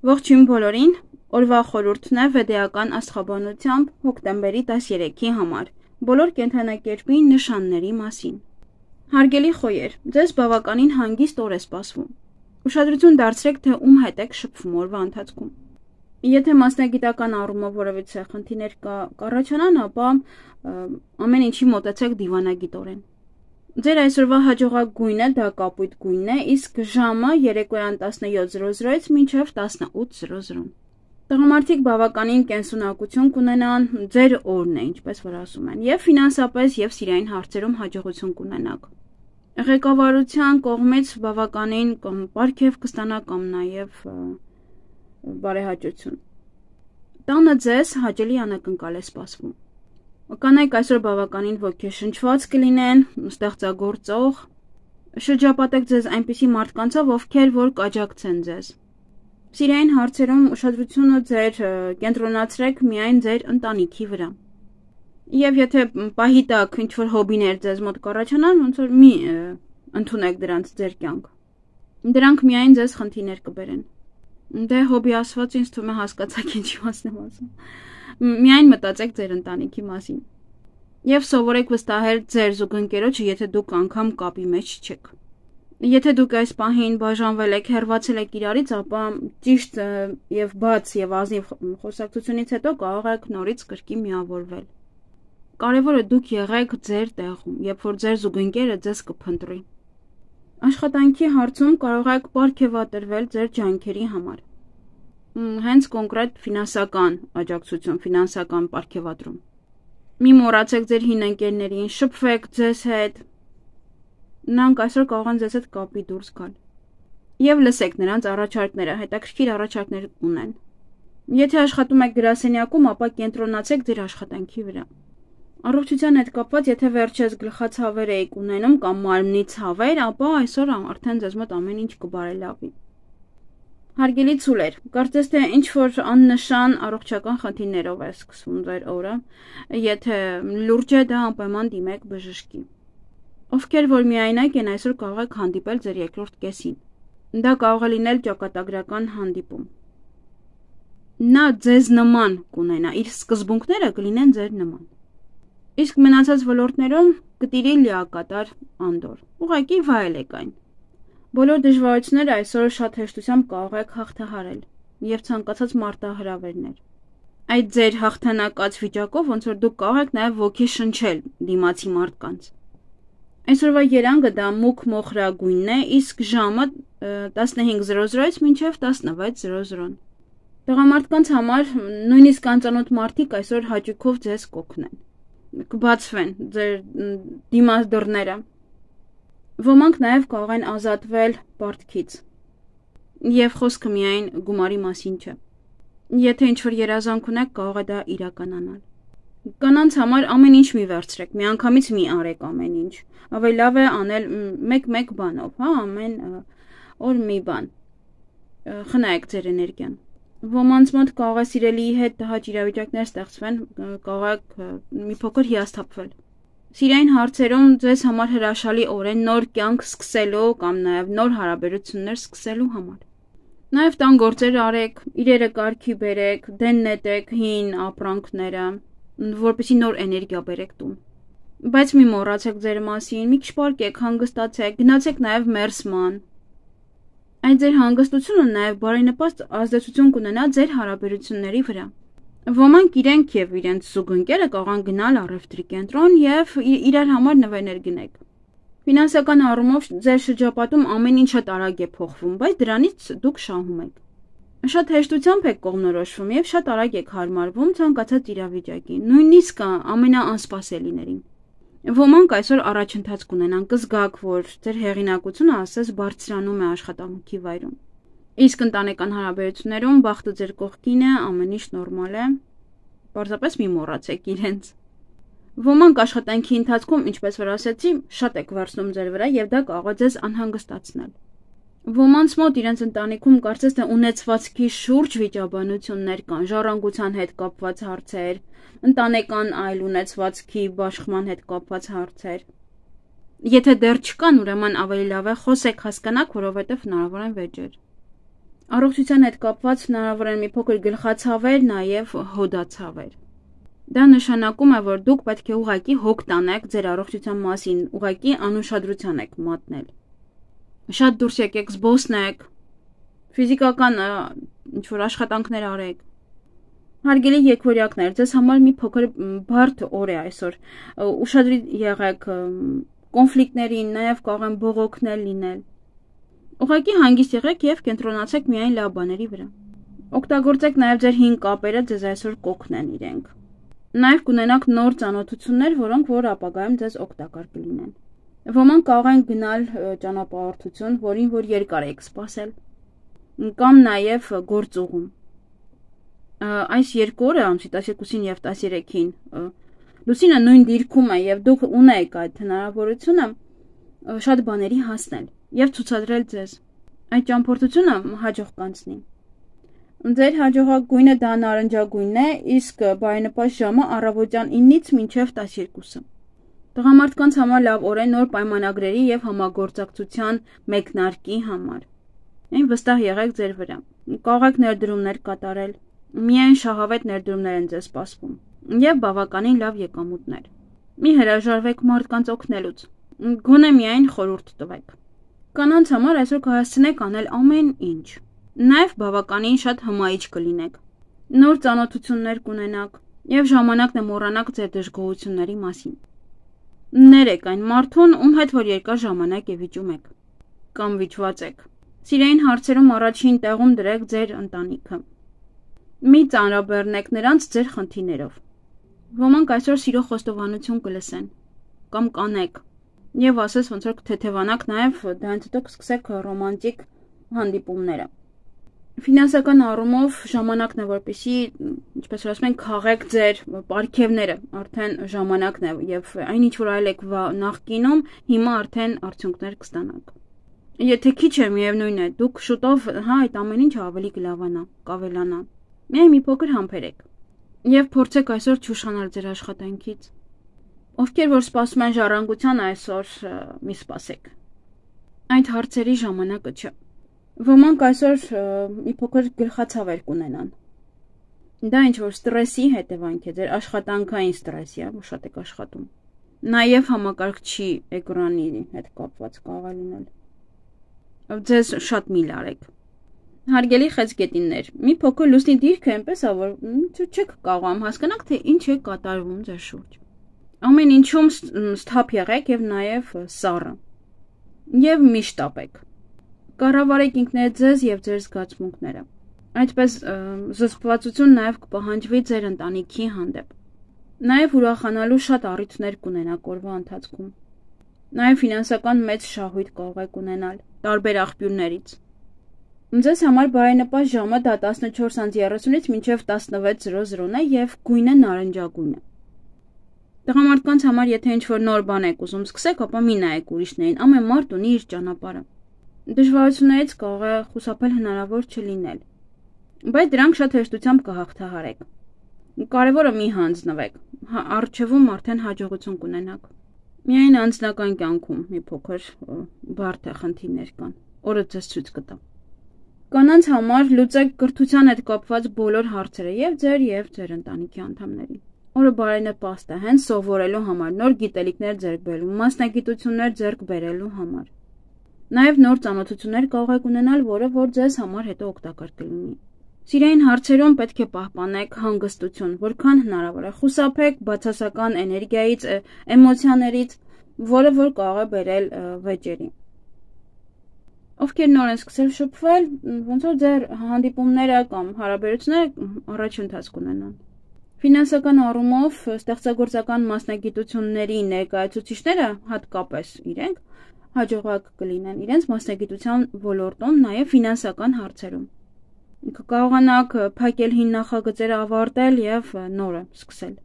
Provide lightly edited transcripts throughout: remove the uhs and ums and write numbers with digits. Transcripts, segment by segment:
Ողջույն բոլորին, օրվա խորհուրդն է վեդեական աստղաբանությամբ հոկտեմբերի 13-ի համար, բոլոր կենդանակերպի նշանների մասին։ Հարգելի խոյեր, ձեզ բավականին հանգիստ օր է սպասվում։ Ուշադրություն դարձրեք, թե ում հետ եք շփվում օրվա ընթացքում։ Եթե մասնագիտական առումով որևիցե խնդիրներ կառաջանան, ապա ամեն ինչի մոտեցեք դիվանագիտորեն։ Ձեր այսօրվա հաջողակ գույնը դա կապույտ գույնն է, իսկ ժամը երեկոյան 17:00-ից մինչև 18:00։ Տղամարդիկ բավականին կենսունակություն կունենան, ձեր օրն է, ինչպես որ ասում են, եւ ֆինանսապես եւ սիրային հարցերում հաջողություն կունենաք։ Ղեկավարության կողմից բավականին կամ պարգև կստանա կամ նաեւ բարեհաճություն։ Տանը ձեզ հաճելի անակնկալ է սպասվում։ Կանայք այսօր բավականին ոգեշնչված կլինեն, ստեղծագործող, շրջապատեք ձեզ այնպիսի մարդկանցով, ովքեր որ կաջակցեն ձեզ։ Սիրային հարցերում ուշադրությունը ձեր կենտրոնացրեք միայն ձեր ընտանիքի վրա։ Եվ եթե պահի տակ ինչ-որ հոբիներ ձեզ մոտ կառաջանան, ոնց որ մի ընդունեք դրանց ձեր կյանք։ Դրանք միայն ձեզ խնդիրներ կբերեն։ Դե հոբի ասված ինձ թվում է հասկացաք ինչի մասն եմ ասում։ Միայն մտածեք ձեր ընտանիքի մասին։ Եվ սովորեք վստահել ձեր զուգընկերոջը, եթե դուք անգամ կապի մեջ չեք։ Եթե դուք այս պահին բաժանվել եք, հեռացել եք իրարից, ապա ճիշտ եւ բաց եւ ազնիվ խոսակցությունից հետո կարող եք նորից կրկին միավորվել։ Կարևորը դուք եղեք ձեր տեղում, երբ որ ձեր զուգընկերը ձեզ կփնտրի։ Աշխատանքի հարցում կարող եք պարգևատրվել ձեր ջանքերի համար։ Հենց կոնկրետ ֆինանսական աջակցություն, ֆինանսական պարգևատրում։ Մի մոռացեք ձեր հին ընկերներին, շփվեք ձեզ հետ։ Նրանք այսօր կարող են ձեզ հետ կապի դուրս գալ։ Եվ լսեք նրանց առաջարկները, հետաքրքիր առաջարկներ ունեն։ Եթե աշխատում եք գրասենյակում, ապա կենտրոնացեք ձեր աշխատանքի վրա։ Առողջության հետ կապված, եթե վերջերս գլխացավեր եք ունենում կամ մարմնի ցավեր, ապա այսօր արդեն ձեզ մոտ ամեն ինչ կբարելավի։ Հարգելի ցուլեր, կարծես թե ինչ որ աննշան առողջական խնդիրներով է սկսվում ձեր օրը, եթե լուրջ է դա անպայման դիմեք բժշկի։ Ովքեր որ միայնակ են, այսօր կարող եք հանդիպել ձեր երկրորդ կեսին։ Դա կարող է լինել ճակատագրական հանդիպում։ Նա ձեզ նման կունենա, իր սկզբունքները կլինեն ձեր նման։ Իսկ մնացած ոլորտներում կտիրի լիակատար անդոր։ Ուղղակի վայելեք այն։ Բոլոր դժվարությունները այսօր շատ հեշտությամբ կարող եք հաղթահարել եւ ցանկացած մարտահրավերներ։ Այդ ձեր հաղթանակած վիճակով ոնց որ դուք կարող եք նաեւ ոգեշնչել դիմացի մարդկանց։ Այսօրվա երանգը դա մուգ մոխրագույնն է, իսկ ժամը 15:00-ից մինչև 16:00։ Տղամարդկանց համար նույնիսկ անծանոթ մարդիկ այսօր հաճույքով ձեզ կօգնեն։ Կբացվեն ձեր դիմաց դռները։ Ոմանք նաև կարող են ազատվել պարտքից։ Եվ խոսքը միայն գումարի մասին չէ։ Եթե ինչ-որ երազանք ունեք, կարող է դա իրականանալ։ Կանանց համար ամեն ինչ մի վերցրեք, միանգամից մի արեք ամեն ինչ։ Ավելի լավ է անել մեկ բանով, հա, ամեն օր մի բան։ Խնայեք ձեր էներգիան։ Ոմանց մոտ կարող է սիրելիի հետ տհաճ իրավիճակներ ստեղծվեն, կարող եք մի փոքր հիասթափվել։ Սիրային հարցերում ձեզ համար հրաշալի օր է նոր կյանք սկսելու կամ նաև նոր հարաբերություններ սկսելու համար։ Նաև տան գործեր արեք, իրերը կարգի բերեք, դեն նետեք հին ապրանքները, որպեսզի նոր էներգիա բերեք տուն։ Բայց մի մոռացեք ձեր մասին, մի քիչ պարկեք, հանգստացեք, գնացեք նաև մերսման։ Այդ ձեր հանգստությունը նաև բարենպաստ ազդեցություն կունենա ձեր հարաբերությունների վրա։ Ոմանք իրենք եւ իրենց զուգընկերը կարող են գնալ առևտրի կենտրոն եւ իրար համար նվերներ գնեք։ Ֆինանսական առումով ձեր շրջապատում ամեն ինչ շատ արագ է փոխվում, բայց դրանից դուք շահում եք։ Շատ հեշտությամբ եք կողմնորոշվում եւ շատ արագ եք հարմարվում ցանկացած իրավիճակին, նույնիսկ ամենաանսպասելիներին։ Ոմանք այսօր առաջընթաց կունենան, կզգաք, որ ձեր հեղինակությունը ասես բարձրանում է աշխատանքի վայրում։ Իսկ ընտանեկան հարաբերություններում բախտը ձեր կողքին է, ամեն ինչ նորմալ է, պարզապես մի մոռացեք իրենց։ Ոմանք աշխատանքի ընթացքում, ինչպես որ ասեցի, շատ եք վարձնում ձեր վրա եւ դա կարող է ձեզ անհանգստացնել։ Ոմանց մոտ իրենց ընտանիքում կարծես թե ունեցվածքի շուրջ վիճաբանություններ կան, ժառանգության հետ կապված հարցեր, ընտանեկան այլ ունեցվածքի բաշխման հետ կապված հարցեր։ Եթե դեռ չկան, ուրեմն ավելի լավ է խոսեք, հասկանաք, որովհետև հնարավոր են վեճեր։ Առողջության հետ կապված հնարավոր են մի փոքր գլխացավեր, նաև հոդացավեր։ Դա նշանակում է, որ դուք պետք է ուղղակի հոգ տանեք ձեր առողջության մասին, ուղղակի անուշադրության եք մատնել։ Շատ դուրս եկեք զբոսնեք, ֆիզիկական ինչ-որ աշխատանքներ արեք։ Հարգելի եկվորյակներ, ձեզ համար մի փոքր բարդ օր է այսօր։ Ուշադրի եղեք կոնֆլիկտներին, նաև կարող են բողոքներ լինել։ Ուղղակի հանգիստ եղեք եւ կենտրոնացեք միայն լավ բաների վրա։ Օգտագործեք նաև ձեր հին կապերը, ձեզ այսօր կօգնեն իրենք։ Նաև կունենաք նոր ծանոթություններ, որոնք որ ապագայում ձեզ օգտակար կլինեն։ Ոմանք կարող են գնալ ճանապարհորդություն, որին որ երկար եք սպասել, կամ նաև գործուղում։ Այս երկու օրը, ամսի 12-ին եւ 13-ին, լուսինը նույն դիրքում է եւ դուք ունեք այդ հնարավորությունը շատ բաների հասնել եւ ցուցադրել ձեզ։ Այդ ճամփորդությունը հաջող կանցնի։ Ձեր հաջողակ գույնը դա նարնջագույնն է, իսկ բարենպաստ ժամը առավոտյան 9-ից մինչև 12-ը։ Տղամարդկանց համար լավ օր է նոր պայմանագրերի եւ համագործակցության մեկնարկի համար։ Այն վստահ եղեք ձեր վրա։ Կարող եք ներդրումներ կատարել։ Միայն շահավետ ներդրումներ են ձեզ սպասվում եւ բավականին լավ եկամուտներ։ Մի հրաժարվեք մարդկանց օգնելուց։ Գոնե միայն խորհուրդ տվեք։ Կանանց համար այսօր կհասցնեք անել ամեն ինչ։ Նաև բավականին շատ հմայիչ կլինեք։ Նոր ծանոթություններ կունենաք եւ ժամանակն է մոռանաք ձեր դժգոհությունների մասին։ Ներեք այն մարդուն, ում հետ որ երկար ժամանակ է վիճում եք կամ վիճված եք։ Սիրային հարցերում առաջին տեղում դրեք ձեր ընտանիքը։ Մի ծանրաբեռնեք նրանց ձեր խնդիրներով։ Ոմանք այսօր սիրո խոստովանություն կլսեն կամ կանեք եւ ասես ոնց որ թեթևանաք նաեւ դրանից հետո կսկսեք ռոմանտիկ հանդիպումները։ Ֆինանսական առումով ժամանակն է, որպեսզի, ինչպես որ ասում են, քաղեք ձեր պարգևները, արդեն ժամանակն է եւ այն ինչ որ այլ եք նախկինում, հիմա արդեն արդյունքներ կստանաք։ Եթե քիչ է, միևնույն է, դուք շուտով այդ ամեն ինչը ավելի կլավանա, կավելանա։ Միայն մի փոքր համբերեք եւ փորձեք այսօր չուշանալ ձեր աշխատանքից։ Ովքեր որ սպասում են ժառանգության այսօր, մի սպասեք։ Այդ հարցերի ժամանակը չէ։ Ոմանք այսօր մի փոքր գլխացավեր կունենան։ Դա ինչ որ ստրեսի հետևանք է, ձեր աշխատանքային ստրեսի, որ շատ եք աշխատում։ Նաև համակարգչի էկրանի հետ կապված կարող է լինել։ Ձեզ շատ մի լարեք։ Հարգելի խեցգետիններ, մի փոքր լուսնի դիրքը այնպես է, որ չեք կարողam հասկանաք, թե ինչ է կատարվում ձեր շուրջ։ Ամեն ինչում սթափ եղեք եւ նաև սառը։ Եվ մի շտապեք։ Կառավարեք ինքներդ ձեզ եւ ձեր զգացմունքները։ Այդպես զսպվածություն նաև կպահանջվի ձեր ընտանիքի հանդեպ։ Նաև ուրախանալու շատ առիթներ կունենաք օրվա ընթացքում։ Նաև ֆինանսական մեծ շահույթ կարող եք ունենալ տարբեր աղբյուրներից։ Ձեզ համար բարենպաստ ժամը դա 14:30-ից մինչև 16:00 է եւ գույնը նարնջագույն է։ Տղամարդկանց համար եթե ինչ-որ նոր բան եք ուզում սկսեք, ապա մի նայեք ուրիշներին, ամեն մարդ ունի իր ճանապարհը։ Դժվարություններից կարող է խուսափել հնարավոր չլինել, բայց դրանք շատ հեշտությամբ կհաղթահարեք։ Կարևորը մի հանձնվեք, առջևում արդեն հաջողություն կունենաք։ Միայն անձնական կյանքում մի փոքր բարդ է խնդիրներ կան, օրը ձեզ ցույց կտա։ Կանանց համար լուծեք կրթության հետ կապված բոլոր հարցերը եւ ձեր ընտանիքի անդամների։ Օրը բարենպաստ է հենց սովորելու համար, նոր գիտելիքներ ձեռք բերելու, մասնագիտություններ ձեռք բերելու համար։ Նաև նոր ծանոթություններ կարող եք ունենալ, որը որ ձեզ համար հետո օգտակար կլինի։ Սիրային հարցերում պետք է պահպանեք հանգստություն, որքան հնարավոր է։ Խուսափեք բացասական էներգիայից, էմոցիաներից, որը որ կարող է բերել վեճերի։ Ովքեր նոր են սկսել շփվել, ոնց որ ձեր հանդիպումները կամ հարաբերությունները առաջընթաց կունենան։ Ֆինանսական առումով ստեղծագործական մասնագիտությունների ներկայացուցիչները, հատկապես իրենք, հաջողակ կլինեն իրենց մասնագիտության ոլորտում, նաև ֆինանսական հարցերում։ Կկարողանաք փակել հին նախագծերը ավարտել եւ նորը սկսել։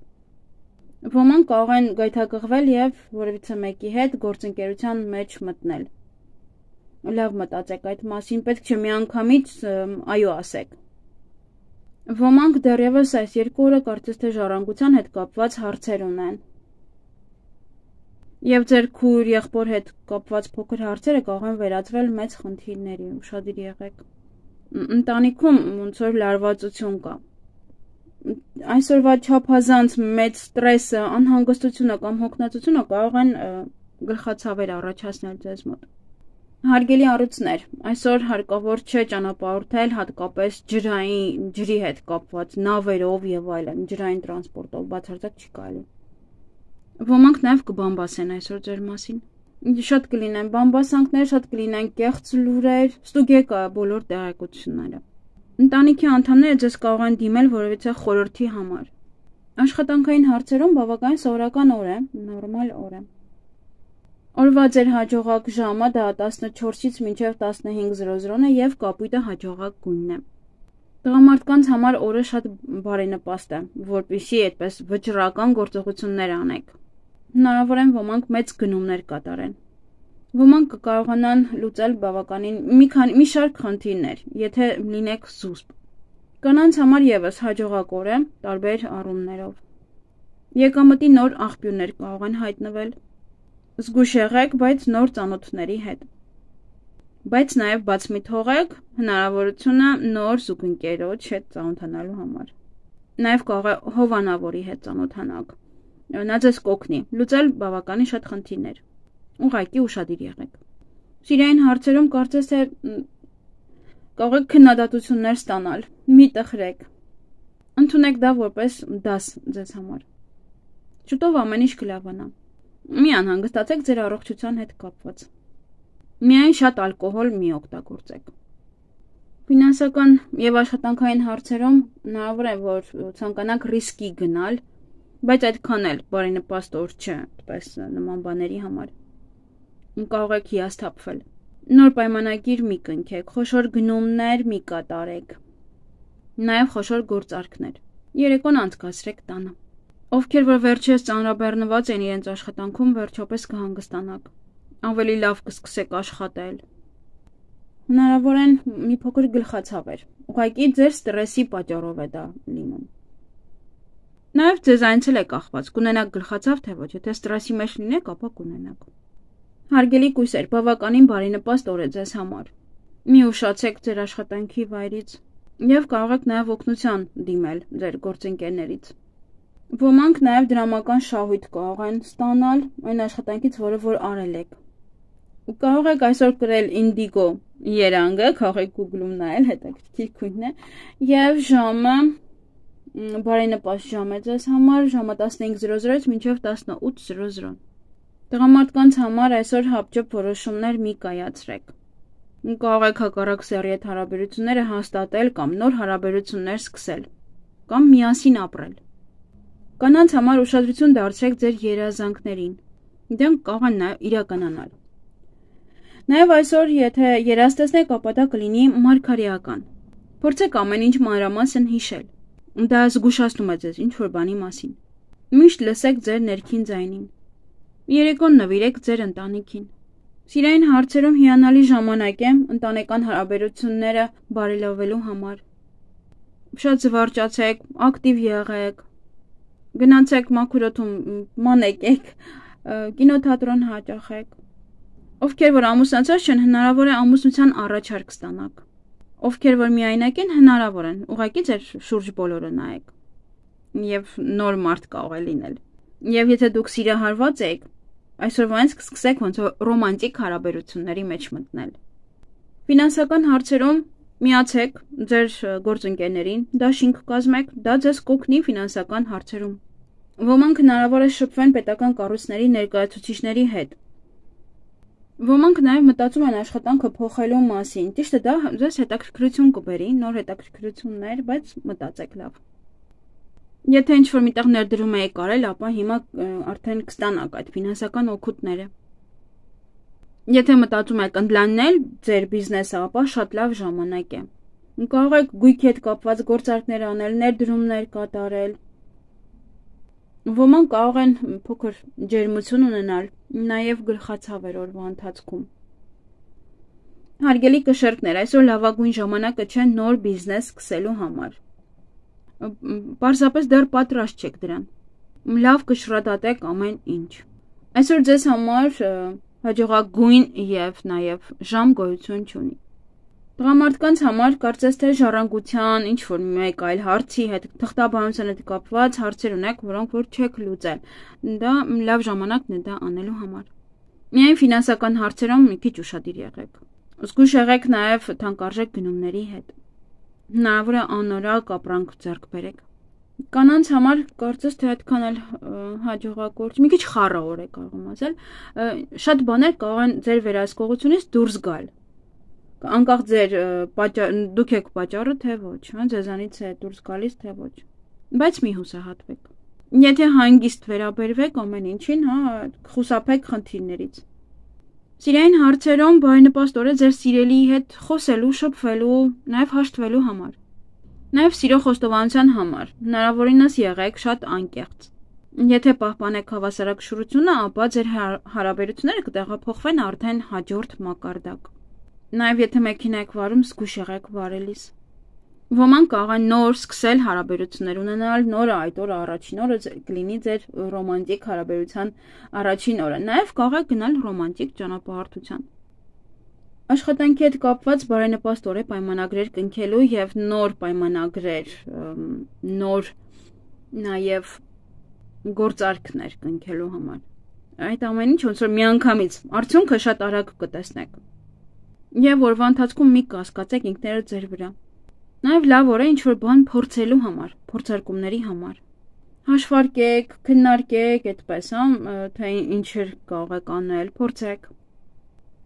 Ոմանք կարող են գայթակղվել եւ որևիցե մեկի հետ գործընկերության մեջ մտնել։ Լավ մտածեք այդ մասին, պետք չէ միանգամից այո ասեք։ Ոմանք դեռևս այս երկու օրը կարծես թե ժառանգության հետ կապված հարցեր ունեն։ Եվ ձեր քույր եղբոր հետ կապված փոքր հարցերը կարող են վերածվել մեծ խնդիրների, ուշադիր եղեք։ ընտանիքում ոնց որ լարվածություն կա։ Այսօրվա չափազանց մեծ ստրեսը, անհանգստությունը կամ հոգնածությունը կարող են գլխացավեր առաջացնել ձեզ մոտ։ Հարգելի առույցներ, այսօր հարկավոր չէ ճանապարհորդել հատկապես ջրի հետ կապված նավերով եւ այլն, ջրային տրանսպորտով, բացարձակ չի կարելի։ Ոմանք նաեւ կբամբասեն այսօր ձեր մասին։ Շատ կլինեն բամբասանքներ, շատ կլինեն կեղծ լուրեր, ստուգեք բոլոր տեղեկությունները։ Ընտանիքի անդամները ձեզ կարող են դիմել որևիցե խորհրդի համար։ Աշխատանքային հարցերում բավականին սովորական օր է, նորմալ օր է։ Օրվա ձեր հաջողակ ժամը դա 14-ից մինչև 15:00 է եւ կապույտը հաջողակ գույնն է։ Տղամարդկանց համար օրը շատ բարենպաստ է, որպեսզի այդպես վճռական գործողություններ անեք։ Հնարավոր է ոմանք մեծ գնումներ կատարեն։ Ոմանք կկարողանան լուծել բավականին մի շարք խնդիրներ, եթե լինեք զուսպ։ Կանանց համար եւս հաջողակ օր է տարբեր առումներով։ Եկամտի նոր աղբյուրներ կարող են հայտնվել։ Զգույշ եղեք, բայց նոր ծանոթների հետ։ Բայց նաև բաց մի թողեք հնարավորությունը նոր զուգընկերոջ հետ ծանոթանալու համար։ Նաև կարող է հովանավորի հետ ծանոթանաք։ Նա ձեզ կօգնի լուծել բավականին շատ խնդիրներ։ Ուղղակի ուշադիր եղեք։ Սիրային հարցերում կարծես թե կարող եք քննադատություններ ստանալ։ Մի տխրեք։ Ընդունեք դա որպես դաս ձեզ համար։ Շուտով ամեն ինչ կլավանա։ Մի անհանգստացեք ձեր առողջության հետ կապված։ Միայն շատ ալկոհոլ մի օգտագործեք։ Ֆինանսական եւ աշխատանքային հարցերում հնարավոր է, որ ցանկանաք ռիսկի գնալ, բայց այդքան էլ բարենպաստ օր չէ, այդպես նման բաների համար։ Կարող եք հիասթափվել։ Նոր պայմանագիր մի կնքեք, խոշոր գնումներ մի կատարեք։ Նաեւ խոշոր գործարքներ։ Երեկոն անցկացրեք տանը։ Ովքեր որ վերջերս ծանրաբեռնված են իրենց աշխատանքում, վերջապես կհանգստանաք։ Ավելի լավ կսկսեք աշխատել։ Հնարավոր են մի փոքր գլխացավեր։ Ուղղակի ձեր ստրեսի պատճառով է դա լինում։ Նաև ձեզանից էլ է կախված, կունենաք գլխացավ թե ոչ, եթե ստրեսի մեջ լինեք, ապա կունենաք։ Հարգելի կույսեր, բավականին բարենպաստ օր է ձեզ համար։ Մի ուշացեք ձեր աշխատանքի վայրից եւ կարող եք նաև օգնության դիմել ձեր գործընկերներից։ Ոմանք նաև դրամական շահույթ կարող են ստանալ այն աշխատանքից, որը որ արել եք։ Կարող եք այսօր կրել ինդիգո երանգը, կարող եք Google-ում նայել, հետաքրքիր քույն է, եւ ժամը բարենպաստ ժամ է ձեզ համար, ժամը 15:00-ից մինչև 18:00։ Տղամարդկանց համար այսօր հապճեպ որոշումներ մի կայացրեք։ Կարող եք հակառակ սեռի հետ հարաբերությունները հաստատել կամ նոր հարաբերություններ սկսել, կամ միասին ապրել։ Կանանց համար ուշադրություն դարձրեք ձեր երազանքներին։ Դրանք կարող են իրականանալ։ Նաև այսօր, եթե երազտեսնեք, ապա դա կլինի մարգարեական։ Փորձեք ամեն ինչ մանրամասն հիշել։ Դա զգուշացնում է ձեզ ինչ-որ բանի մասին։ Միշտ լսեք ձեր ներքին ձայնին։ Երեկոն նվիրեք ձեր ընտանիքին։ Սիրային հարցերում հիանալի ժամանակ է ընտանեկան հարաբերությունները բարելավելու համար։ Շատ զվարճացեք, ակտիվ եղեք։ Գնացեք մաքուր օդում մանեկեք, կինոթատրոն հաճախեք։ Ովքեր որ ամուսնացած չեն, հնարավոր է ամուսնության առաջարկ ստանաք։ Ովքեր որ միայնակ են, հնարավոր են, ուղղակի ձեր շուրջ բոլորը նայեք։ Եվ նոր մարդ կարող է լինել։ Եվ եթե դուք սիրահարված եք, այսօրվանից կսկսեք ոնց որ ռոմանտիկ հարաբերությունների մեջ մտնել։ Ֆինանսական հարցերում միացեք ձեր գործընկերներին, դաշինք կազմեք, դա ձեզ կօգնի ֆինանսական հարցերում։ Ոմանք հնարավոր է շփվեն պետական կառույցների ներկայացուցիչների հետ։ Ոմանք նաև մտածում են աշխատանքը փոխելու մասին։ Ճիշտ է, դա ձեզ հետաքրքրություն կբերի, նոր հետաքրքրություններ, բայց մտածեք լավ։ Եթե ինչ-որ միտեղ ներդրում եք արել, ապա հիմա արդեն կստանաք այդ ֆինանսական օգուտները։ Եթե մտածում եք ընդլայնել ձեր բիզնեսը, ապա շատ լավ ժամանակ է։ Կարող եք գույքի հետ կապված գործարքներ անել, ներդրումներ կատարել։ Ոմանք կարող են փոքր ջերմություն ունենալ, նաև գլխացավեր օրվա ընթացքում։ Հարգելի կշերկներ, այսօր լավագույն ժամանակը չէ նոր բիզնես սկսելու համար։ Պարզապես դեռ պատրաստ չեք դրան։ Լավ կշռադատեք ամեն ինչ։ Այսօր ձեզ համար հաջողագույն եւ նաև ժամ գոյություն չունի։ Տղամարդկանց համար կարծես թե ժառանգության ինչ որ մեկ այլ հարցի հետ թղթաբանության հետ կապված հարցեր ունեք, որոնք որ չեք լուծել։ Դա լավ ժամանակն է դա անելու համար։ Միայն ֆինանսական հարցերում մի քիչ ուշադիր եղեք։ Զգույշ եղեք նաև թանկարժեք գնումների հետ։ Հնարավոր է անորակ ապրանք ձեռք բերեք։ Կանանց համար կարծես թե այդքան էլ հաջողակորձ, մի քիչ խառաոր է կարող ասել, շատ բաներ կարող են ձեր վերահսկողությունից դուրս գալ։ Անկախ ձեր դուք եք պատճառը, թե ոչ, ձեզանից է դուրս գալիս, թե ոչ։ Բայց մի հուսահատվեք։ Եթե հանգիստ վերաբերվեք ամեն ինչին, խուսափեք խնդիրներից։ Սիրային հարցերում բարենպաստ օր է ձեր սիրելիի հետ խոսելու, շփվելու, նաև հաշտվելու համար։ Նաև սիրո խոստովանության համար, հնարավորինս եղեք շատ անկեղծ։ Եթե պահպանեք հավասարակշռությունը, ապա ձեր հարաբերությունները կտեղափոխվեն արդեն հաջորդ մակարդակ։ Նաև եթե մեքենա եք վարում, զգույշ եղեք վարելիս։ Ոմանք կարող են նոր սկսել հարաբերություններ ունենալ, նոր այդ օրը առաջին օրը կլինի ձեր ռոմանտիկ հարաբերության առաջին օրը։ Նաև կարող եք գնալ ռոմանտիկ ճանապարհորդության։ Աշխատանքի հետ կապված բարենպաստ օր է պայմանագրեր կնքելու եւ նոր պայմանագրեր, նոր նաեւ գործարքներ կնքելու համար։ Այդ ամեն ինչ ոնց որ միանգամից արդյունքը շատ արագ կտեսնեք։ Եվ օրվա ընթացքում մի կասկածեք ինքներդ ձեր վրա։ Նաեւ լավ օր է ինչ որ բան փորձելու համար, փորձարկումների համար։ Հաշվարկեք, քննարկեք, այդպես, թե ինչեր կարող եք անել, փորձեք։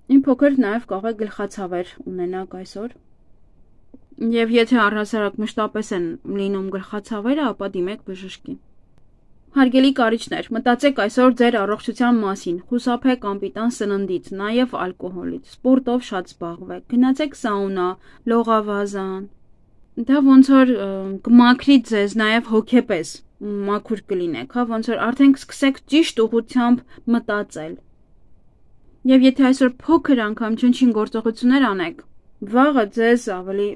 Իմ փոքր նաև կարող է գլխացավեր ունենաք այսօր։ Եվ եթե առհասարակ մշտապես են լինում գլխացավերը, ապա դիմեք բժշկի։ Հարգելի կարիճներ, մտածեք այսօր ձեր առողջության մասին, խուսափեք անպիտան սննդից, նաև ալկոհոլից, սպորտով շատ զբաղվեք, գնացեք սաունա, լողավազան։ Դա ոնց որ կմաքրի ձեզ նաև հոգեպես, մաքուր կլինեք, ոնց որ արդեն սկսեք ճիշտ ուղղությամբ մտածել։ Եվ եթե այսօր փոքր անգամ չնչին գործողություններ անեք, վաղը ձեզ ավելի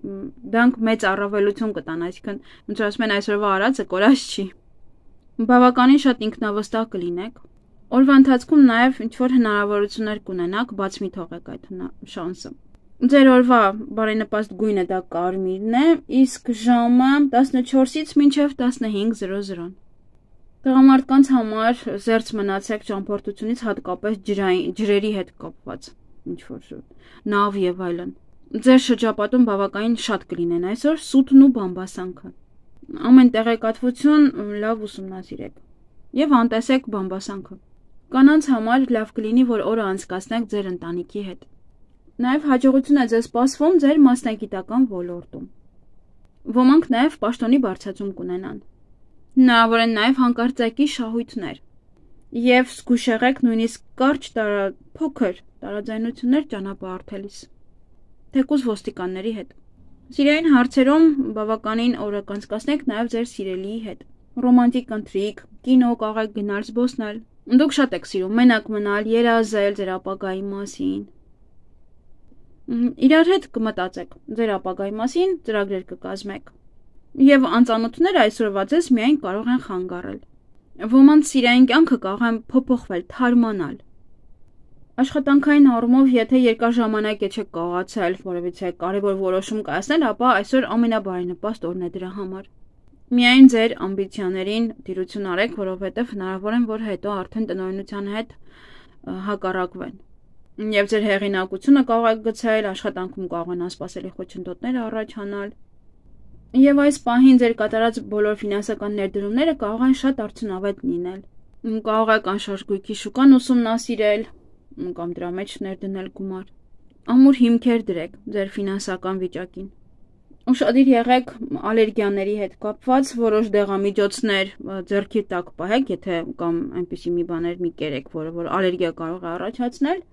դրանք մեծ առավելություն կտան, այսինքն ոնց որ ասում են այսօրվա արածը կորած չի։ Բավականին շատ ինքնավստահ կլինեք։ Օրվա ընթացքում նաև ինչ որ հնարավորություններ կունենաք, բաց մի թողեք այդ շանսը։ Ձեր օրվա բարենպաստ գույնը դա կարմիրն է, իսկ ժամը 14-ից մինչև 15:00։ Տղամարդկանց համար զերծ մնացեք ճամփորդությունից, հատկապես ջրերի հետ կապված, ինչ որ նավ եւ այլն։ Ձեր շրջապատում բավականին շատ կլինեն այսօր սուտն ու բամբասանքը։ Ամեն տեղեկատվություն լավ ուսումնասիրեք եւ անտեսեք բամբասանքը։ Կանանց համար լավ կլինի, որ օրը անցկացնեք ձեր ընտանիքի հետ։ Նաեւ հաջողություն է ձեզ սպասվում ձեր մասնագիտական ոլորտում։ Ոմանք նաեւ պաշտոնի բարձրացում կունենան։ Հնարավոր են նաև հանկարծակի շահույթներ եւ զգույշ եղեք նույնիսկ կարճ փոքր տարաձայնություններ ճանապարհորդելիս, թեկուզ ոստիկանների հետ։ Սիրային հարցերում բավականին օրը կանցկացնեք նաև ձեր սիրելիի հետ։ Ռոմանտիկ ընթրիք, կինո կարող եք գնալ զբոսնել։ Դուք շատ եք սիրում մենակ մնալ, երազել ձեր ապագայի մասին։ Իրար հետ կմտածեք ձեր ապագայի մասին, ծրագրեր կկազմեք։ Եվ անծանոթները այսօրվա ձեզ միայն կարող են խանգարել։ Ոմանց սիրային կյանքը կարող են փոփոխվել, թարմանալ։ Աշխատանքային առումով, եթե երկար ժամանակ չեք կարողացել որևիցե կարևոր որոշում կայացնել, ապա այսօր ամենաբարենպաստ օրն է դրա համար։ Միայն ձեր ամբիցիաներին տիրություն արեք, որովհետև հնարավոր է, որ հետո արդեն տնօրինության հետ հակառակվեն։ Եվ ձեր հեղինակությունը կարող եք գցել, աշխատանքում կարող են անսպասելի խոչընդոտներ առաջանալ։ Եվ այս պահին ձեր կատարած բոլոր ֆինանսական ներդրումները կարող են շատ արդյունավետ լինել։ Կարող եք անշարժ գույքի շուկան ուսումնասիրել կամ դրա մեջ ներդնել գումար։ Ամուր հիմքեր դրեք ձեր ֆինանսական վիճակին։ Ուշադիր եղեք ալերգիաների հետ կապված, որոշ դեղամիջոցներ ձեռքի տակ պահեք, եթե կամ այնպիսի մի բաներ մի կերեք, որ ալերգիա կարող է առաջացնել,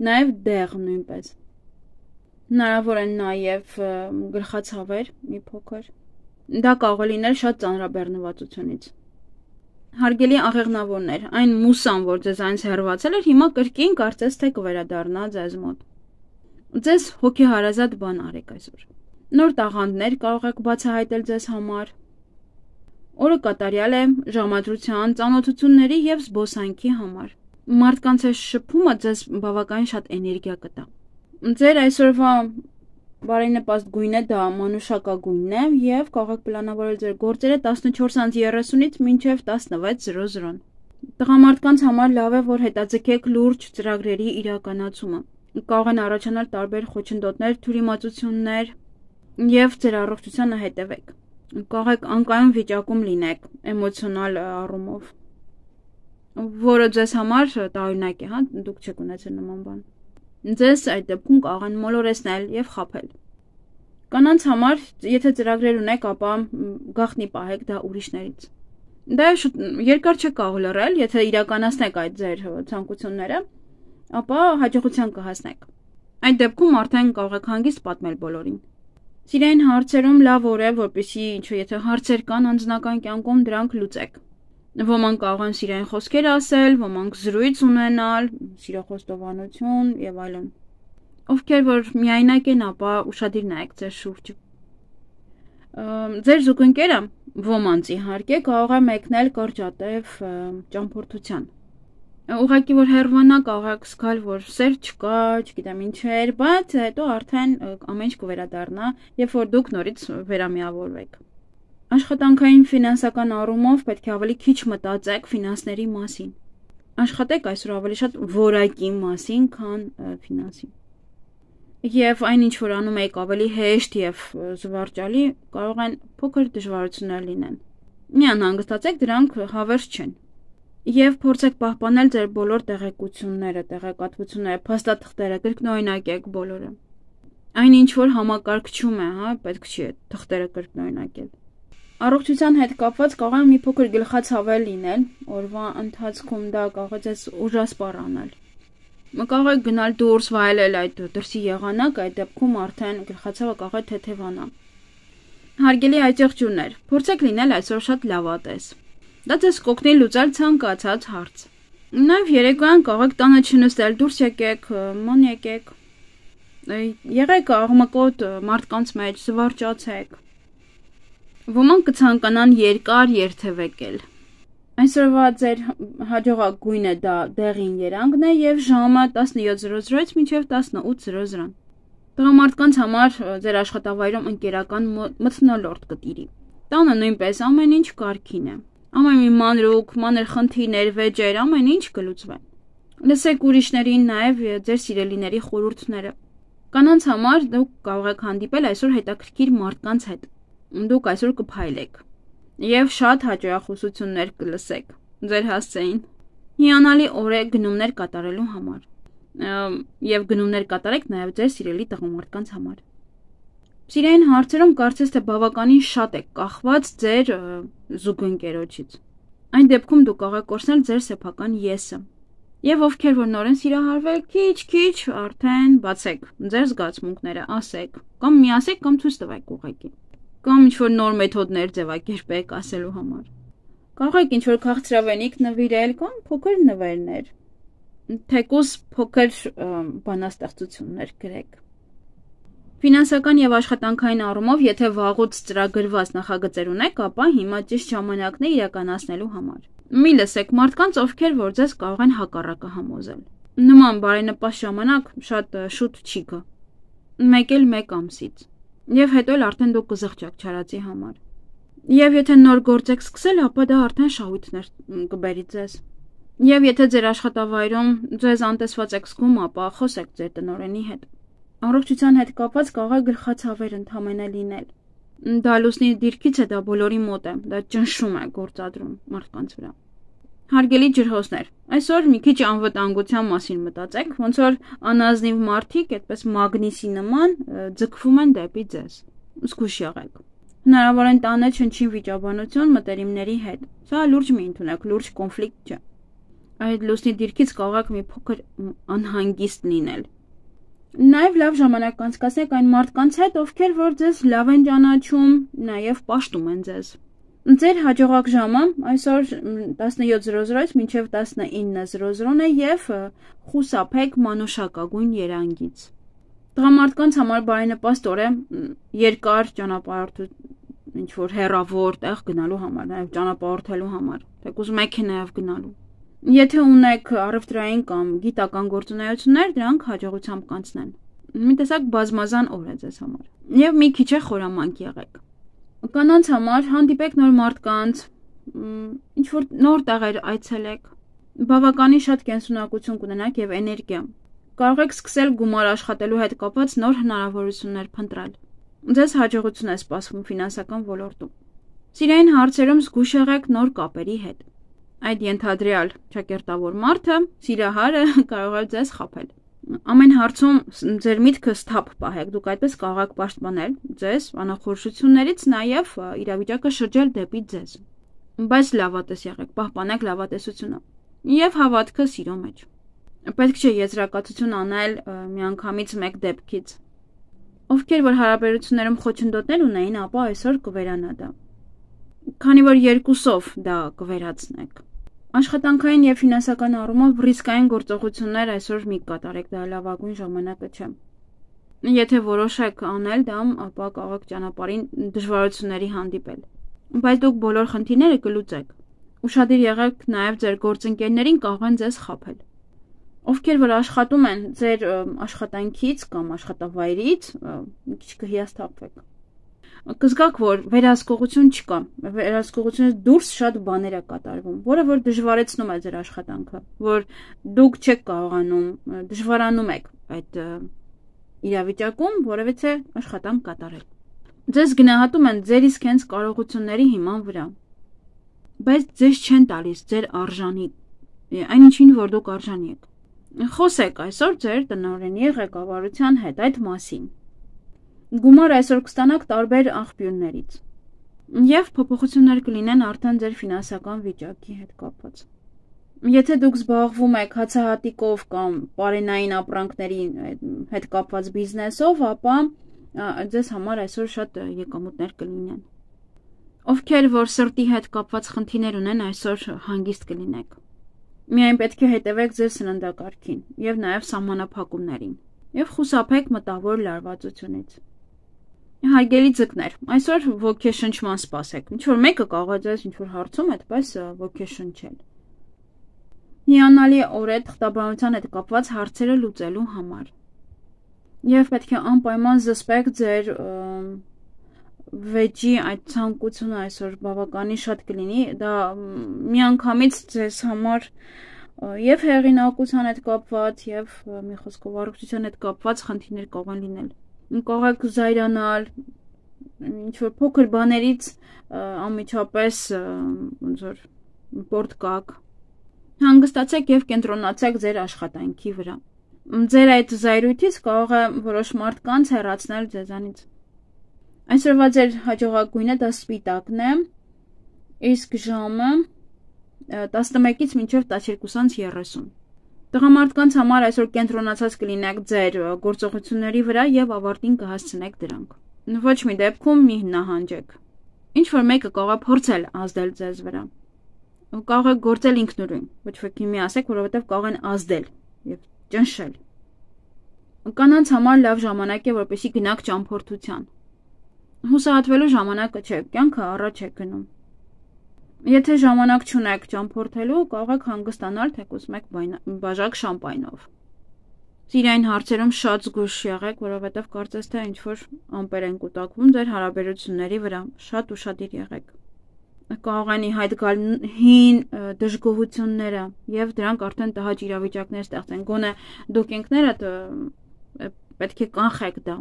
նաև դեղ նույնպես։ Հնարավոր են նաև գլխացավեր մի փոքր։ Դա կարող է լինել շատ ծանրաբեռնվածությունից։ Հարգելի աղեղնավորներ, այն մուսան, որ ձեզ այնց հեռացել էր, հիմա կրկին կարծես թե կվերադառնա ձեզ մոտ։ Ձեզ հոգեհարազատ բան արեք այսօր։ Նոր տաղանդներ կարող եք բացահայտել ձեզ համար։ Օրը կատարյալ է ժամադրության, ծանոթությունների եւ զբոսանքի համար։ Մարդկանց այս շփումը ձեզ բավականին շատ էներգիա կտա։ Ձեր այսօրվա բարենպաստ գույնը դա մանուշակագույնն է եւ կարող եք պլանավորել ձեր գործերը 14:30-ից մինչեւ 16:00-ն։ Տղամարդկանց համար լավ է, որ հետաձգեք լուրջ ծրագրերի իրականացումը։ Կարող են առաջանալ տարբեր խոչընդոտներ, թյուրիմացություններ եւ ձեր առողջությանը հետևեք։ Կարող եք անկայուն վիճակում լինեք էմոցիոնալ առումով, որը ձեզ համար տարօրինակ է, հա, դուք չեք ունեցել նման բան։ Ձեզ այդ դեպքում կարող են մոլորեցնել եւ խաբել։ Կանանց համար, եթե ծրագրեր ունեք, ապա գաղտնի պահեք դա ուրիշներից։ Դա երկար չեք կարող լռել, եթե իրականացնեք այդ ձեր ցանկությունները, ապա հաջողության կհասնեք։ Այդ դեպքում արդեն կարող եք հանգիստ պատմել բոլորին։ Սիրային հարցերում լավ օր է, որպեսզի եթե հարցեր կան անձնական կյանքում, դրանք լուծեք։ Ոմանք կարող են սիրային խոսքեր ասել, ոմանք զրույց ունենալ, սիրոխոստովանություն եւ այլն։ Ովքեր որ միայնակ են, ապա ուշադիր նայեք ձեր շուրջը։ Ձեր զուգընկերը ոմանց իհարկե կարող է մեկնել կարճատև ճամփորդության։ Ուղղակի որ հեռվանա կարող եք զգալ, որ սեր չկա, չգիտեմ ինչեր, բայց հետո արդեն ամեն ինչ կվերադառնա, երբ որ դուք նորից վերամիավորվեք։ Աշխատանքային ֆինանսական առումով պետք է ավելի քիչ մտածեք ֆինանսների մասին։ Աշխատեք այսօր ավելի շատ որակի մասին, քան ֆինանսի։ Եվ այն ինչ որ անում եք ավելի հեշտ եւ զվարճալի, կարող են փոքր դժվարություններ լինեն։ Մի անհանգստացեք, դրանք հավերժ չեն։ Եվ փորձեք պահպանել ձեր բոլոր տեղեկությունները, տեղեկատվությունները, փաստաթղթերը, կրկնօրինակեք բոլորը։ Այն ինչ որ համակարգչում է, հա, պետք չի թղթերը կրկնօրինակել։ Առողջության հետ կապված կարող է մի փոքր գլխացավեր լինել, օրվա ընթացքում դա կարող է ձեզ ուժասպառ անել։ Կարող եք գնալ դուրս վայելել այդ դրսի եղանակ, այդ դեպքում արդեն գլխացավը կարող է թեթևանա։ Հարգելի այծեղջուրներ, փորձեք լինել այսօր շատ լավատես։ Դա ձեզ կօգնի լուծել ցանկացած հարց։ Նաև երեկոյան կարող եք տանը չնստել, դուրս եկեք, ման եկեք։ Եղեք աղմկոտ մարդկանց մեջ, զվարճացեք։ Ոմանք կցանկանան երկար երթևեկել։ Այսօրվա ձեր հաջողակ գույնը դա դեղին երանգն է եւ ժամը 17:00-ից մինչեւ 18:00։ Տղամարդկանց համար ձեր աշխատավայրում ընկերական մթնոլորտ կտիրի։ Տանը նույնպես ամեն ինչ կարգին է։ Ամեն մի մանրուք, մանր խնդիրներ, վեճեր, ամեն ինչ կլուծվեն։ Լսեք ուրիշներին նաև ձեր սիրելիների խորհուրդները։ Կանանց համար դուք կարող եք հանդիպել այսօր հետաքրքիր մարդկանց հետ։ Դուք այսօր կփայլեք եւ շատ հաճախոսություններ կլսեք ձեր հասցեին։ Հիանալի օր է գնումներ կատարելու համար։ Եվ գնումներ կատարեք նաև ձեր սիրելի տղամարդկանց համար։ Սիրային հարցերում կարծես թե բավականին շատ եք կախված ձեր զուգընկերոջից։ Այն դեպքում դուք կարող եք կորցնել ձեր սեփական եսը։ Եվ ովքեր որ նոր են սիրահարվել, քիչ արդեն բացեք ձեր զգացմունքները, ասեք, կամ միասեք, կամ ցույց տվեք ուղղակի։ Կամ ինչ-որ նոր մեթոդներ ձևակերպեք ասելու համար։ Կարող եք ինչ-որ քաղցրավենիք նվիրել, կամ փոքր նվերներ։ Թեկուզ փոքր բանաստեղծություններ գրեք։ Ֆինանսական եւ աշխատանքային առումով, եթե վաղուց ծրագրված նախագծեր ունեք, ապա հիմա ճիշտ ժամանակն է իրականացնելու համար։ Մի լսեք մարդկանց, ովքեր որ ձեզ կարող են հակառակը համոզել։ Նման բարենպաստ ժամանակ շատ շուտ չի գա։ Մեկ ամսից։ Եվ հետո էլ արդեն դուք կզղջաք չարածի համար։ Եվ եթե նոր գործ եք սկսել, ապա դա արդեն շահույթներ կբերի ձեզ։ Եվ եթե ձեր աշխատավայրում ձեզ անտեսված եք զգում, ապա խոսեք ձեր տնօրենի հետ։ Առողջության հետ կապված կարող է գլխացավեր ընդհանրապես լինել։ Դա լուսնի դիրքից է, դա բոլորի մոտ է, դա ճնշում է գործադրում մարդկանց վրա։ Հարգելի ջրհոսներ, այսօր մի քիչ անվտանգության մասին մտածեք, ոնց որ անազնիվ մարդիկ, այդպես մագնիսի նման ձգվում են դեպի ձեզ։ Զգույշ եղեք։ Հնարավոր է տանը չնչին վիճաբանություն մտերիմների հետ։ Սա լուրջ մի ընդունեք, լուրջ կոնֆլիկտ չէ։ Այդ լուսնի դիրքից կարող եք մի փոքր անհանգիստ լինել։ Նաև լավ ժամանակ անցկացնեք այն մարդկանց հետ, ովքեր որ ձեզ լավ են ճանաչում, նաև պաշտում են ձեզ։ Ձեր հաջողակ ժամը այսօր 17:00-ից մինչև 19:00 է եւ խուսափեք մանուշակագույն երանգից։ Տղամարդկանց համար բարենպաստ օր է երկար ճանապարհորդություն, ինչ որ հեռավոր տեղ գնալու համար, նաև ճանապարհորդելու համար, թեկուզ մեքենայով գնալու։ Եթե ունեք առևտրային կամ գիտական գործունեություններ, դրանք հաջողությամբ կանցնեն։ Մի տեսակ բազմազան օր է ձեզ համար։ Եվ մի քիչ է խորամանկ եղեք։ Կանանց համար հանդիպեք նոր մարդկանց, ինչ որ նոր տեղեր այցելեք, բավականին շատ կենսունակություն կունենաք եւ էներգիա։ Կարող եք սկսել գումար աշխատելու հետ կապված նոր հնարավորություններ փնտրել։ Ձեզ հաջողություն է սպասվում ֆինանսական ոլորտում։ Սիրային հարցերում զգուշ եղեք նոր կապերի հետ։ Այդ ենթադրյալ ճակերտավոր մարդը, սիրահարը կարող է ձեզ խաբել։ Ամեն հարցում ձեր միտքը սթափ պահեք, դուք այդպես կարող եք պաշտպանել ձեզ անախորժություններից, նաև իրավիճակը շրջել դեպի ձեզ։ Բայց լավատես եղեք, պահպանեք լավատեսությունը եւ հավատքը սիրո մեջ։ Պետք չէ եզրակացություն անել միանգամից մեկ դեպքից։ Ովքեր որ հարաբերություններում խոչընդոտներ ունեին, ապա այսօր կվերանա դա։ Քանի որ երկուսով դա կվերացնեք։ Աշխատանքային եւ ֆինանսական առումով ռիսկային գործողություններ այսօր մի կատարեք, դա լավագույն ժամանակը չէ։ Եթե որոշեք անել դա, ապա կարող եք ճանապարհին դժվարությունների հանդիպել։ Բայց դուք բոլոր խնդիրները կլուծեք։ Ուշադիր եղեք նաեւ ձեր գործընկերներին, կարող են ձեզ խաբել։ Ովքեր որ աշխատում են ձեր աշխատանքից կամ աշխատավայրից, մի քիչ կհիասթափվեք։ Կզգաք, որ վերահսկողություն չկա, վերահսկողությունից դուրս շատ բաներ է կատարվում, որը որ դժվարեցնում է ձեր աշխատանքը, որ դուք չեք կարողանում, դժվարանում եք այդ իրավիճակում, որովհետեւ աշխատանք կատարել։ Ձեզ գնահատում են ձեր իսկ հենց կարողությունների հիման վրա, բայց ձեզ չեն տալիս ձեր արժանի, այնինչին որ դուք արժանի եք։ Խոսեք այսօր ձեր տնօրենի ղեկավարության հետ այդ մասին։ Գումար այսօր կստանաք տարբեր աղբյուրներից եւ փոփոխություններ կլինեն արդեն ձեր ֆինանսական վիճակի հետ կապված։ Եթե դուք զբաղվում եք հացահատիկով կամ պարենային ապրանքների հետ կապված բիզնեսով, ապա ձեզ համար այսօր շատ եկամուտներ կլինեն։ Ովքեր որ սրտի հետ կապված խնդիրներ ունեն, այսօր հանգիստ կլինեք։ Միայն պետք է հետևեք ձեր սննդակարգին եւ նաեւ սահմանափակումներին եւ խուսափեք մտավոր լարվածությունից։ Հարգելի ձկներ, այսօր ոգեշնչման սպասեք։ Ինչ որ մեկը կարող է ձեզ ինչ որ հարցում այդպես ոգեշնչել։ Հիանալի օր է թղթաբանության հետ կապված հարցերը լուծելու համար։ Եվ պետք է անպայման զսպեք ձեր վեճի այդ ցանկությունը այսօր բավականին շատ կլինի, դա միանգամից ձեզ համար եւ հեղինակության հետ կապված եւ մի խոսքով առողջության հետ կապված խնդիրներ կարող են լինել։ Կարող եք զայրանալ, ինչ որ փոքր բաներից անմիջապես ոնց որ պորտ կաք։ Հանգստացեք եւ կենտրոնացեք ձեր աշխատանքի վրա։ Ձեր այդ զայրույթից կարող է որոշ մարդկանց հեռացնել ձեզանից։ Այսօրվա ձեր հաջողակույնը դա սպիտակն է, իսկ ժամը 11-ից մինչև 12:30։ Տղամարդկանց համար այսօր կենտրոնացած կլինեք ձեր գործողությունների վրա եւ ավարտին կհասցնեք դրանք։ Ոչ մի դեպքում մի նահանջեք։ Ինչ որ մեկը կարող է փորձել ազդել ձեզ վրա։ Կարող է գործել ինքնուրույն, ոչ ոքի մի ասեք, որովհետեւ կարող են ազդել եւ ճնշել։ Կանանց համար լավ ժամանակ է, որպեսզի գնաք ճամփորդության։ Հուսահատվելու ժամանակը չէ, կյանքը առաջ է գնում։ Եթե ժամանակ չունեք ճամփորդելու, կարող եք հանգստանալ թեկուզ մեկ բաժակ շամպայնով։ Սիրային հարցերում շատ զգույշ եղեք, որովհետև կարծես թե ինչ-որ ամպեր են կուտակվում ձեր հարաբերությունների վրա, շատ ուշադիր եղեք։ Կարող են ի հայտ գալ հին դժգոհությունները, եւ դրանք արդեն տհաճ իրավիճակներ ստեղծեն։ Գոնե դուք ինքներդ պետք է կանխեք դա։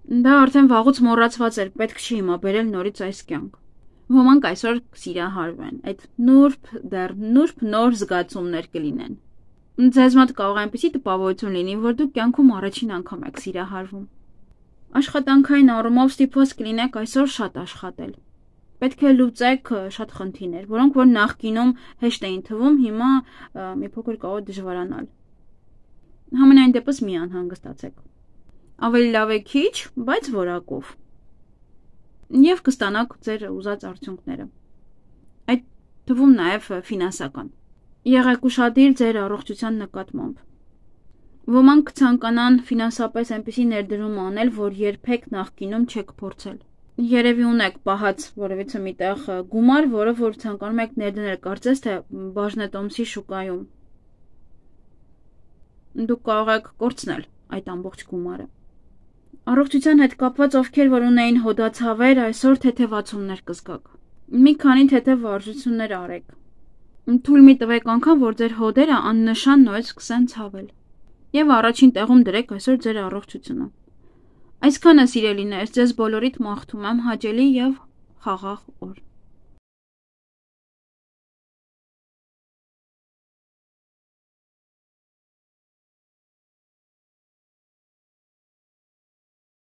Դա արդեն վաղուց մոռացված էր, պետք չի հիմա բերել նորից այս կյանք։ Ոմանք այսօր կսիրահարվեն, այդ նուրբ նոր զգացումներ կլինեն։ Ձեզ մոտ կարող է այնպիսի տպավորություն լինի, որ դուք կյանքում առաջին անգամ եք սիրահարվում։ Աշխատանքային առումով ստիպված կլինեք այսօր շատ աշխատել։ Պետք է լուծեք շատ խնդիրներ, որոնք որ նախկինում հեշտ էին թվում, հիմա մի փոքր կարող է դժվարանալ։ Համենայն դեպս մի անհանգստացեք։ Ավելի լավ է քիչ, բայց որակով։ Եվ կստանաք ձեր ուզած արդյունքները։ Այդ թվում նաև ֆինանսական։ Եղեք ուշադիր ձեր առողջության նկատմամբ։ Ոմանք կցանկանան ֆինանսապես այնպիսի ներդրում անել, որ երբեք նախկինում չեք փորձել։ Երևի ունեք պահած որևիցե միտեղ գումար, որը որ ցանկանում եք ներդնել, կարծես թե բաժնետոմսի շուկայում։ Դուք կարող եք կորցնել այդ ամբողջ գումարը։ Առողջության հետ կապված ովքեր որ ունեին հոդացավեր, այսօր թեթևացումներ կզգաք։ Մի քանի թեթև վարժություններ արեք։ Թույլ մի տվեք անգամ, որ ձեր հոդերը աննշան նույնիսկ սկսեն ցավել։ Եվ առաջին տեղում դրեք այսօր ձեր առողջությունը։ Այսքանը սիրելիներ, ձեզ բոլորիդ մաղթում եմ հաճելի եւ խաղաղ օր։